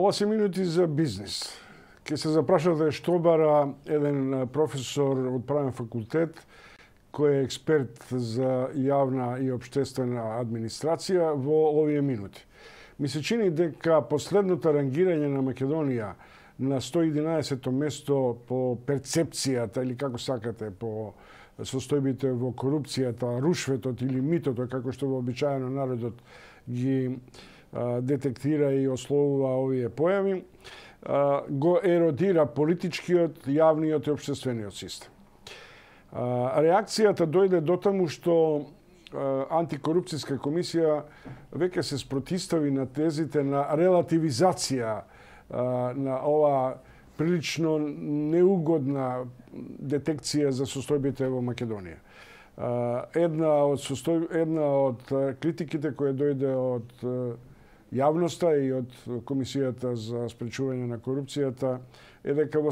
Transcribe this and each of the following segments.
Ова се минути за бизнис. Ке се запрашате што бара еден професор од правен факултет кој е експерт за јавна и општествена администрација во овие минути. Ми се чини дека последното рангирање на Македонија на 111-то место по перцепцијата или како сакате по состојбите во корупцијата, рушветот или митото, како што вообичаено народот ги детектира и ословува овие појави, го еродира политичкиот, јавниот и општествениот систем. Реакцијата дојде до таму што антикорупцијска комисија веќе се спротистави на тезите на релативизација на ова прилично неугодна детекција за состојбите во Македонија. Една од критиките која дојде од јавноста и од Комисијата за спречување на корупцијата е дека во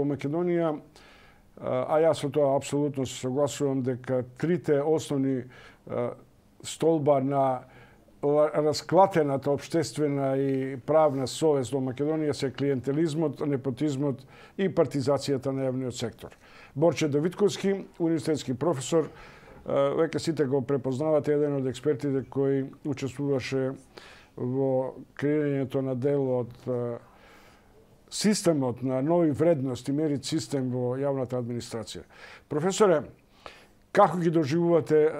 Македонија, а јас со тоа апсолутно се согласувам, дека трите основни столба на расклатената општествена и правна совест во Македонија се клиентелизмот, непотизмот и партизацијата на јавниот сектор. Борче Давидковски, универзитетски професор, веќе сите го препознавате, еден од експертите кои учествуваше во креирањето на дел од системот на нови вредности, мерит систем во јавната администрација. Професоре, како ги доживувате,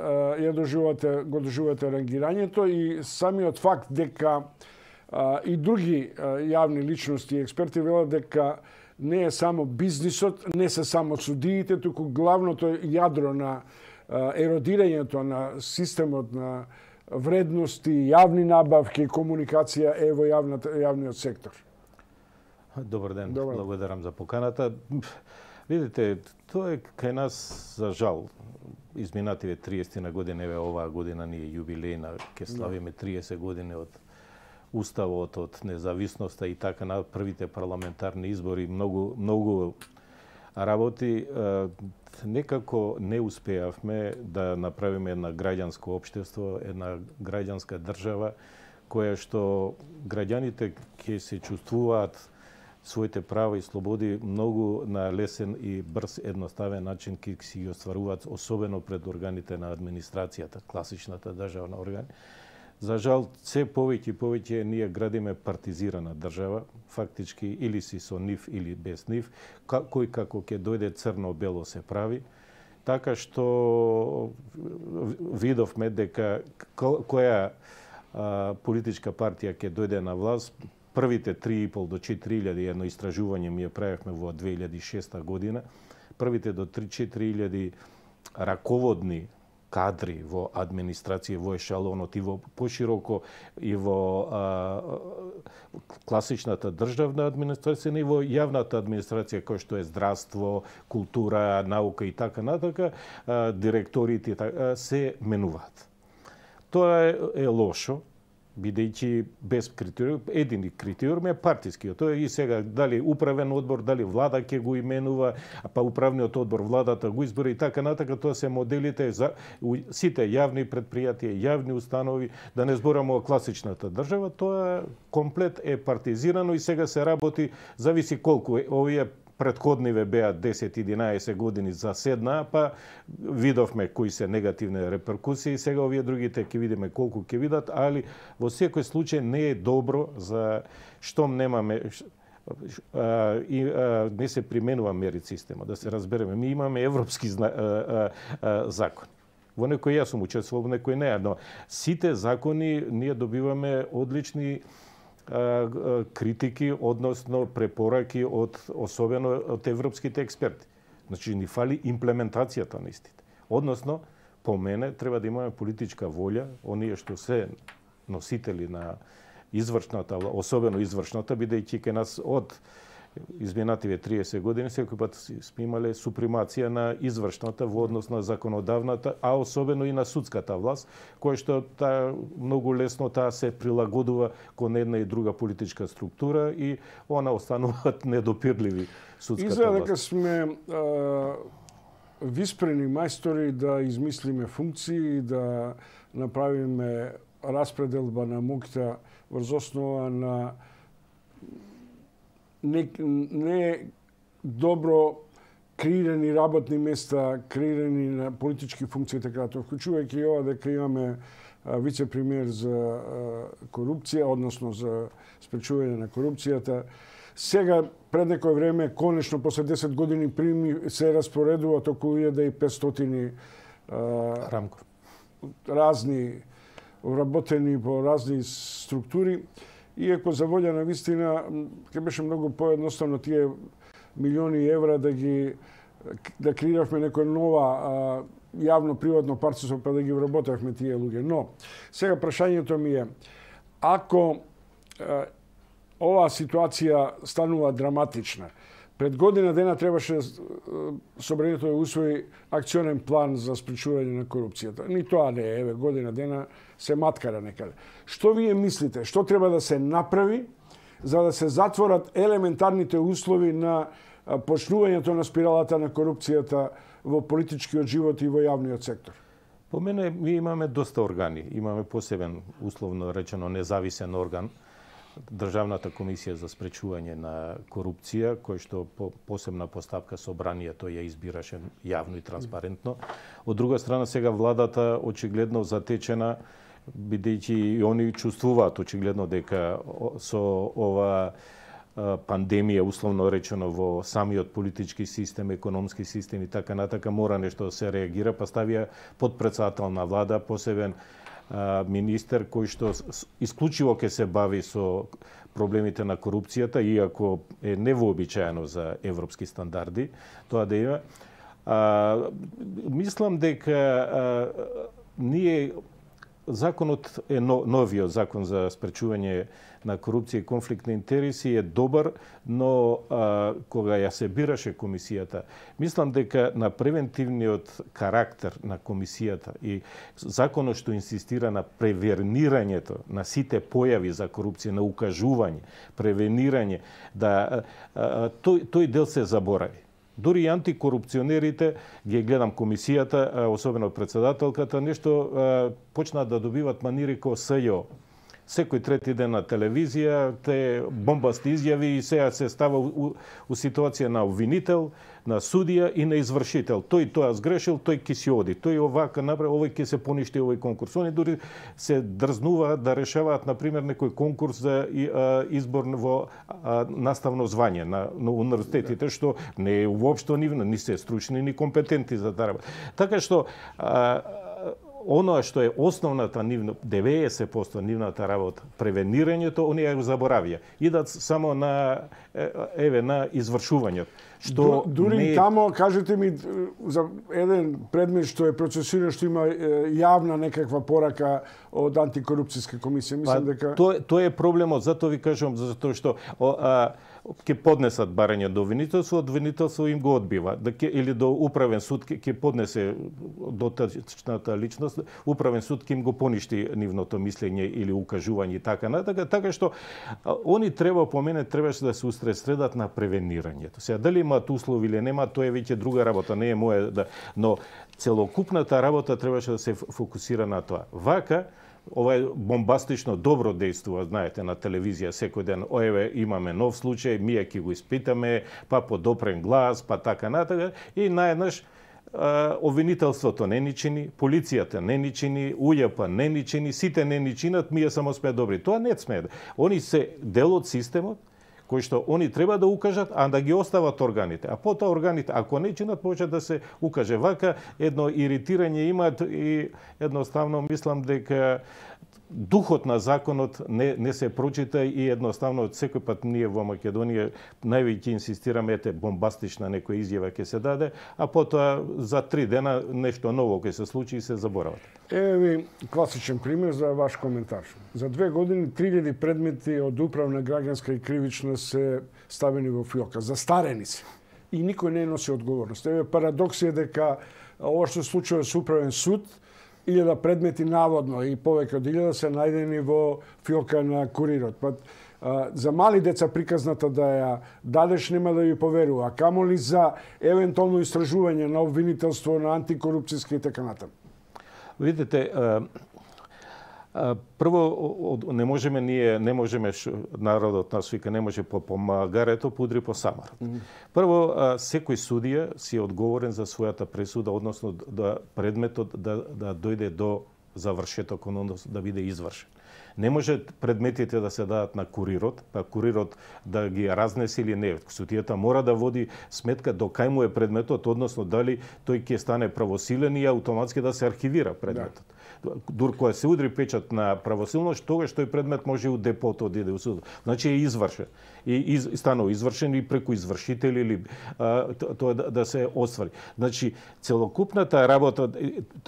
го доживувате рангирањето и самиот факт дека и други јавни личности и експерти велат дека не е само бизнисот, не се само судиите, туку главното јадро на еродирањето на системот на вредности, јавни набавки, комуникација е во јавниот сектор. Добар ден, благодарам за поканата. Видите, тоа е кај нас, за жал, изминативе 30 на години, оваа година ни е јубилејна, ќе славиме 30 години од Уставот, од независноста и така на првите парламентарни избори, многу работи. Некако не успеавме да направиме една граѓанско општество, една граѓанска држава, која што граѓаните ќе се чувствуваат своите права и слободи многу на лесен и брз, едноставен начин ќе си ги остваруваат, особено пред органите на администрацијата, класичната државна органи. За жал, се повеќе и повеќе ние градиме партизирана држава, фактички или си со нив или без нив, кој како ќе дојде црно-бело се прави, така што видовме дека која политичка партија ќе дојде на власт, првите 3,5 до 4.000, едно истражување ми ја правевме во 2006 година, првите до 3-4.000 раководни кадри во администрација, во ешалонот и во пошироко и во класичната државна администрација и во јавната администрација, кој што е здравство, култура, наука и така натака, директорите се менуваат. Тоа е лошо, бидејќи без критериум, едини критериум е партискиот. Тоа и сега дали управен одбор, дали влада ќе го именува, па управниот одбор владата го избира и така натака, тоа се моделите за сите јавни предпријатија, јавни установи, да не збораме о класичната држава, тоа комплет е партизирано и сега се работи, зависи колку овие предходниве беа 10-11 години заседнаа, па видовме кои се негативни реперкусии, сега овие другите ќе видиме колку ќе видат, али во секој случај не е добро за штом немаме не се применува мерит система, да се разбереме. Ми имаме европски закони. Во некој јас сум учествувал, во некој не, но сите закони ние добиваме одлични критики, односно препораки особено од европските експерти. Значи, ни фали имплементацијата на истите. Односно, по мене, треба да имаме политичка волја, оние што се носители на извршната, особено извршната, бидејќи кај нас од изминативе 30 години секој пат сме имале супремација на извршната во однос на законодавната, а особено и на судската власт, која што многу лесно таа се прилагодува кон една и друга политичка структура и она остануваат недопирливи судската власт. Изгледа дека сме виспрени мајстори да измислиме функции, да направиме распределба на моќта врз основа на не добро креирани работни места, креирани на политички функции, така тоа, вклучувајќи и ова дека имаме вице-премиер за корупција, односно за спречување на корупцијата. Сега, пред некој време, конечно, после 10 години прими се распоредуваат околу 1500 Рамков. Разни вработени по разни структури. Иако за волја на вистина, ќе беше многу поедноставно тие милиони евра да креиравме некоја нова јавно-приватно партнерство, па да ги вработавме тие луѓе. Но, сега прашањето ми е, ако оваа ситуација станува драматична, пред година дена требаше собранието да усвои акционен план за спречување на корупцијата. Ни тоа не е, еве, година дена се маткара некаде. Што вие мислите, што треба да се направи за да се затворат елементарните услови на почнувањето на спиралата на корупцијата во политичкиот живот и во јавниот сектор? По мене, ми имаме доста органи. Имаме посебен, условно речено, независен орган, Државната комисија за спречување на корупција, кој што по посебна поставка собранието ја избираше јавно и транспарентно. Од друга страна, сега владата очигледно затечена, бидејќи и они чувствуваат очигледно дека со ова пандемија, условно речено, во самиот политички систем, економски систем и така натака, мора нешто да се реагира, па ставија подпредседател на влада, посебен министер кој што исклучиво ќе се бави со проблемите на корупцијата, иако е невообичаено за европски стандарди, тоа да има. Мислам дека ние законот е новиот закон за спречување на корупција и конфликт на интереси е добар, но кога ја се бираше комисијата, мислам дека на превентивниот карактер на комисијата и законот што инсистира на превенирањето на сите појави за корупција, на укажување, превенирање, да тој дел се заборави. Дори и антикорупционерите, ги гледам комисијата, особено председателката, нешто почнаа да добиват манири како СЈО. Секој трети ден на телевизија, те бомбасти изјави и сега се става у ситуација на обвинител, на судија и на извршител. Тој тоа сгрешил, тој ќе си оди. Тој овака направи, овој ќе се поништи овој конкурс. Они дури се дрзнуваат да решаваат, например, некој конкурс за избор во наставно звање на универзитетите, што не е уопшто ни се стручни, ни компетентни за да работат. Така што оно што е основната нивна, 90% нивната работа, превенирањето, они ја заборавија. Идат само на извршувањето. Што дури тамо, кажете ми, за еден предмет што е процесиран, што има јавна некаква порака од антикорупцијска комисија, мислам дека тоа е проблемот, затоа ви кажувам, затоа што ќе поднесат барање до обвинителство им го одбива, или до управен суд ќе поднесе дотачната личност, управен суд ќе им го поништи нивното мислење или укажување и така натака, така што они треба, по мене, требаше да се усредредат на превенирањето. Сега дали имаат услови или нема, тоа е веќе друга работа, не е моја, но целокупната работа требаше да се фокусира на тоа. Вака ова е бомбастично добро дејствува, знаете, на телевизија секој ден. Еве имаме нов случај, ние ќе го испитаме, па по допрен глас, па така натака, и наеднаш обвинителството не ни чини, полицијата не ни чини, УЈП не ни чини, сите не ни чинат, ние само сме добри. Тоа не сме. Они се дел од системот, кои што они треба да укажат, а да ги остават органите. А потоа органите, ако не чинат, може да се укаже. Вака едно иритирање имаат и едноставно мислам дека духот на законот не се прочита и едноставно секој пат ние во Македонија највеќе инсистираме бомбастична некоја изјава ќе се даде, а потоа за 3 дена нешто ново ќе се случи и се заборават. Еве ви класичен пример за ваш коментар. За 2 години 3000 предмети од управна, граѓанска и кривична се ставени во фиока, застарени се. И никој не носи одговорност. Еве парадокс е дека ова што се случува со управен суд, 1000 предмети наводно и повеќе од 1000 се најдени во фиока на курирот. За мали деца приказната да ја дадеш нема да ја поверува, а камоли за евентуално истражување на обвинителство, на антикорупцијски и така натаму. Видите, Прво, не можеме народот нас вика, не може по магарето, пудри по самарот. Прво, секој судија си е одговорен за својата пресуда, односно да предметот да дојде до завршеток, односно да биде извршен. Не може предметите да се дадат на курирот, па курирот да ги разнесе или не. Судијата мора да води сметка до кај му е предметот, односно дали тој ќе стане правосилен и автоматски да се архивира предметот. Дур кога се удри печат на правосилност, тогаш тој предмет може и у депото да иде у судот. Значи е извршен. И станува извршен и преку извршители или тоа да се оствари. Значи целокупната работа,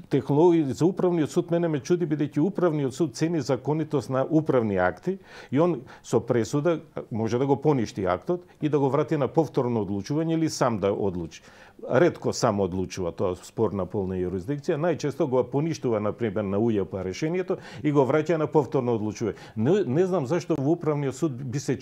технологија за управниот суд мене ме чуди, бидејќи управниот суд цени законитост на управни акти и он со пресуда може да го поништи актот и да го врати на повторно одлучување или сам да одлучи. Ретко сам одлучува, тоа спор на полна юрисдикција, најчесто го поништува на пример на УЈП решението и го враќа на повторно одлучување. Не знам зашто во управниот суд би се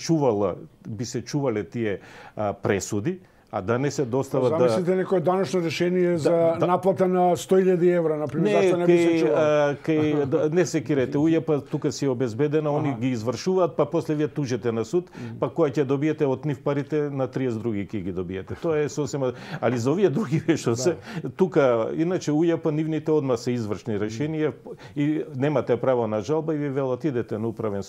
чувале тие пресуди, а да не се достава да... Замислите некој даношно решение за наплата на 100.000 евра, например, зашто не би се чувало? Не се кирете, УЈП тука си обезбедена, они ги извршуваат, па после вие тужете на суд, па која ќе добиете од нив парите, на 30 други ќе ги добиете. Тоа е сосема... Али за овие други што се, тука, иначе УЈП нивните одма се извршни решенија и немате право на жалба и ви велат идете на управен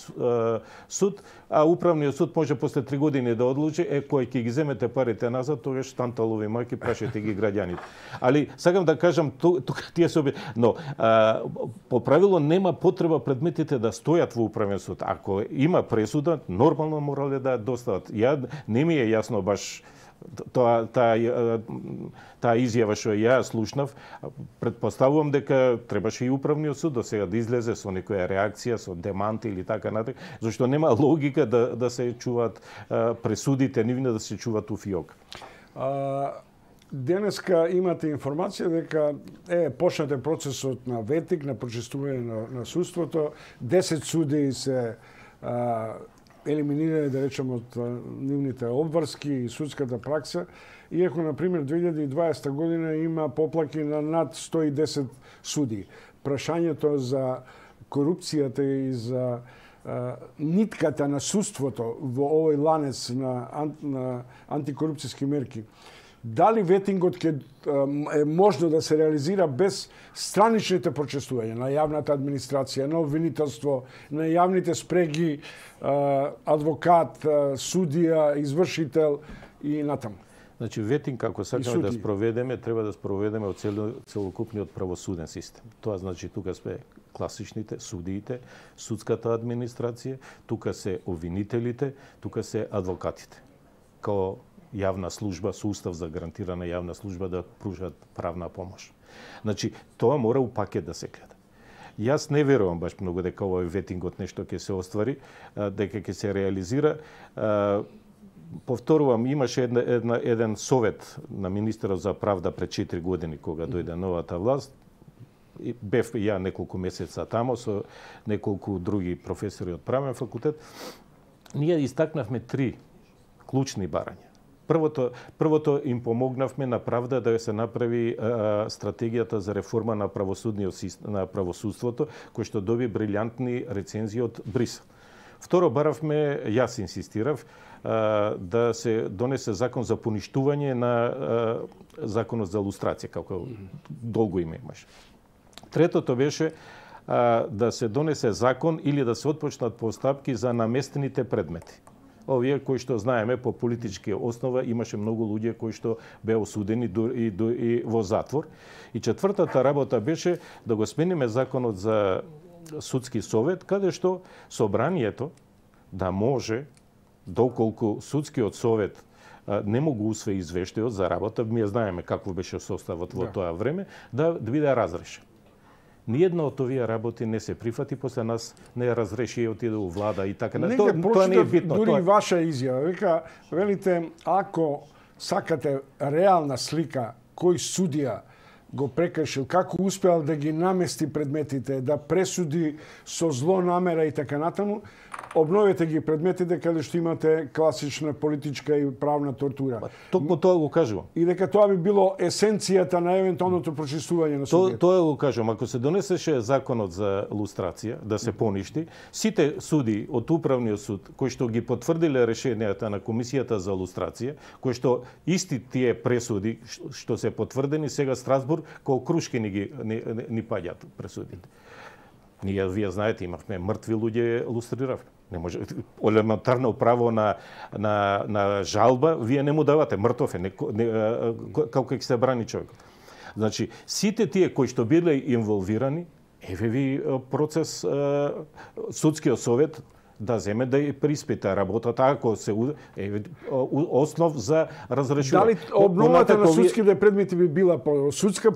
суд, а управниот суд може после 3 години да одлучи, кој ќе ги земете парите назад, тогаш танталови мајки, прашете ги граѓаните. Али сакам да кажам, тука тие се но по правило нема потреба предметите да стојат во управен суд. Ако има пресуда, нормално морале да достават. Не ми е јасно баш таа изјава што ја слушнав. Предпоставувам дека требаше и управниот суд до сега да излезе со некоја реакција, со демант или така натаму, зашто нема логика да се чуваат пресудите нивни, да се чуваат у фиок. Денеска имате информација дека почнате процесот на ветик, на прочистување на судството. 10 судии се елиминирани, да речем, од нивните обврски и судската пракса, иако, например, 2020 година има поплаки на над 110 судии. Прашањето за корупцијата и за нитката на судството во овој ланец на антикорупцијски мерки, дали ветингот е можно да се реализира без страничните прочестувања на јавната администрација, на обвинителство, на јавните спреги, адвокат, судија, извршител и натаму? Значи, ветинг, ако сакаме да спроведеме, треба да спроведеме од целокупниот правосуден систем. Тоа значи, тука сме класичните, судиите, судската администрација, тука се обвинителите, тука се адвокатите. Као јавна служба, со устав за гарантирана јавна служба да пружат правна помош. Значи, тоа мора у пакет да се гледа. Јас не верувам баш многу дека овој ветингот нешто ќе се оствари, дека ќе се реализира. Повторувам, имаше еден совет на министерот за правда пред 4 години кога дојде новата власт. Бев ја неколку месеца тамо со неколку други професори од правен факултет. Ние истакнавме 3 клучни барања. Првото им помогнавме на правда да се направи стратегијата за реформа на правосудството, кој што доби брилјантни рецензии од Брисел. Второ, баравме, јас инсистирав, да се донесе закон за поништување на законот за лустрација, како долго име имаше. Третото беше да се донесе закон или да се отпочнат постапки за наместените предмети. Овие кои што знаеме по политички основа, имаше многу луѓе кои што беа осудени и во затвор. И четвртата работа беше да го смениме законот за судски совет, каде што собранието да може, доколку судскиот совет не могу усвои извештајот за работа, ние знаеме какво беше составот во тоа време, да биде разрешен. Ниједна од овие работи не се прифати, после нас не разреши и отиде у влада и така. Тоа не е битно. Дури ваша изјава, велите, ако сакате реална слика кој судија го прекршил, како успеал да ги намести предметите, да пресуди со зло намера и така натаму, обновете ги предметите каде што имате класична политичка и правна тортура. Токму тоа го кажувам. И дека тоа би било есенцијата на евентуалното прочистување на судијата. Тоа го кажувам. Ако се донесеше законот за лустрација, да се поништи, сите суди од Управниот суд, кои што ги потврдиле решенијата на Комисијата за лустрација, кои што исти тие пресуди што се потврдени, сега Страсбург као крушки ни паѓаат пресудите. Вие знаете, имавме мртви луѓе, лустриравме. Не може елементарно право на жалба, вие не му давате, мртов е, како ќе се брани човек. Значи, сите тие кои што биле инволвирани, еве ви процес, судскиот совет да земе да ја приспита работата, ако се основ за разрешување. Дали обновата на судските предмети би била по судска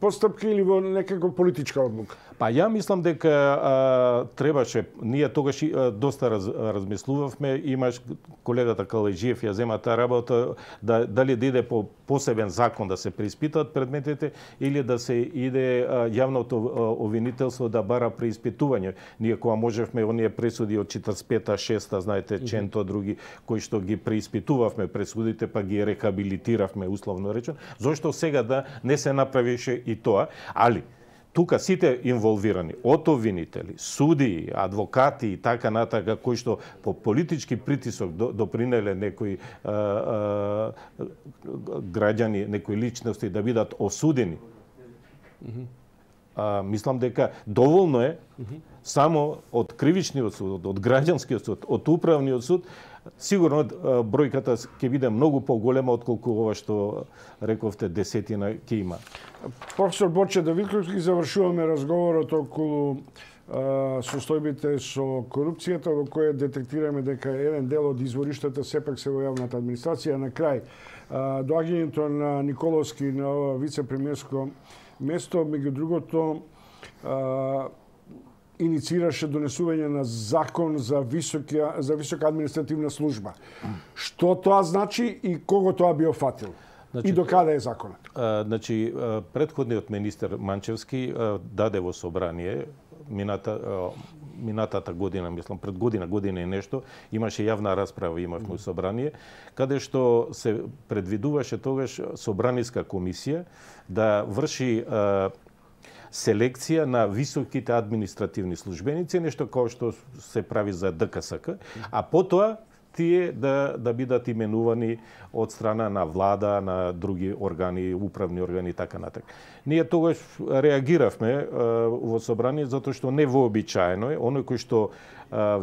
постапка или во некако политичка одлука? Па ја мислам дека требаше, ние тогаш доста размислувавме, имаш колегата Калајджиев ја зема таа работа, дали да иде по посебен закон да се преиспитаат предметите или да се иде јавното обвинителство да бара преиспитување. Ние кога можевме оние пресуди од 45-та, 6-та, знаете, Ченто, други, кои што ги преиспитувавме пресудите, па ги рехабилитиравме, условно речено, зошто сега да не се направише и тоа, али тука сите инволвирани, од обвинители, судии, адвокати и така натака, кои што по политички притисок допринеле некои граѓани, некои личности да бидат осудени. Мислам дека доволно е само од кривичниот суд, од граѓанскиот суд, од управниот суд, сигурно бројката ќе биде многу поголема отколку ова што рековте десетина ќе има. Професор Борче Давидковски, завршуваме разговорот околу состојбите со корупцијата, во која детектираме дека еден дел од извориштата сепак се во јавната администрација. На крај, доаѓањето на Николовски на ова вице-премиерско место, меѓу другото, инициираше донесување на закон за висока административна служба. Што тоа значи и кого тоа би офатил? И до каде е законот? Значи, претходниот министер Манчевски даде во собрание минатата година, мислам, пред година и нешто, имаше јавна расправа, имавме собрание, каде што се предвидуваше тогаш собраниска комисија да врши селекција на високите административни службеници, нешто како што се прави за ДКСК, а потоа тие да бидат именувани од страна на влада, на други органи, управни органи и така натаму. Ние тогаш реагиравме во собрание затоа што невообичаено е оној кој што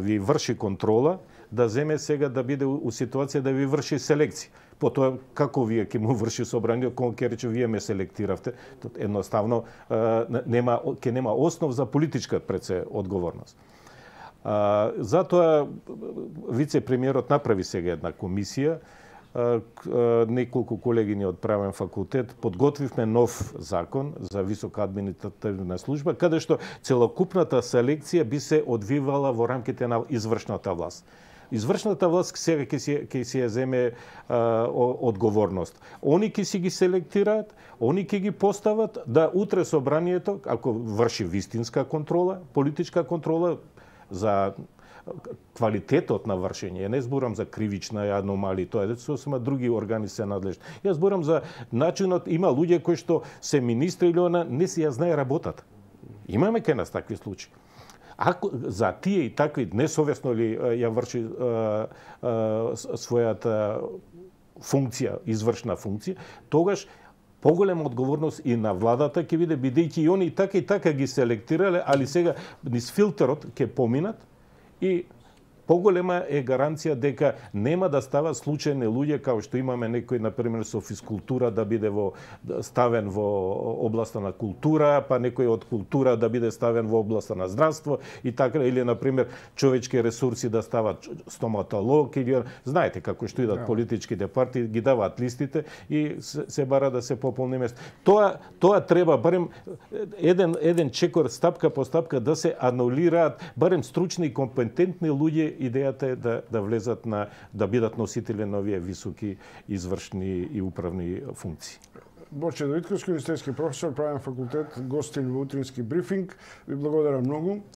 ви врши контрола да земе сега да биде у ситуација да ви врши селекција. Потоа како вие ќе му врши собрание, кога ќе рече вие ме селектиравте, едноставно ќе нема основ за политичка предсе одговорност. Затоа вице-премиерот направи сега една комисија, неколку колегини од правен факултет, подготвивме нов закон за висока административна служба, каде што целокупната селекција би се одвивала во рамките на извршната власт. Извршната власт сега ќе си ја земе одговорност. Они ќе си ги селектираат, они ќе ги постават да утре собранието, ако врши вистинска контрола, политичка контрола за квалитетот на вршење. Не зборам за кривична аномалии, тоа е сосема други органи се надлежни. Јас зборам за начинот, има луѓе кои што се министри или она не си ја знае работата. Имаме кај нас такви случаи. Ако за тие и такви несовесно ли ја врши својата функција, извршна функција, тогаш поголема одговорност и на владата ќе биде, бидејќи и они и така ги селектирале, али сега низ филтерот ќе поминат и поголема е гаранција дека нема да стават случајни луѓе како што имаме некој, например, со физкултура да биде ставен во областа на култура, па некој од култура да биде ставен во областа на здравство и така, или, например, човечки ресурси да стават стоматолог, или знаете како што идат политичките партии, ги даваат листите и се бара да се пополни место. Тоа треба барем еден чекор стапка по стапка да се анулираат барем стручни и компетентни луѓе. Идејата е да влезат да бидат носители на овие високи извршни и управни функции. Боче Давидковски, универзитетски професор, правен факултет, гостин во утрински брифинг. Ви благодарам многу.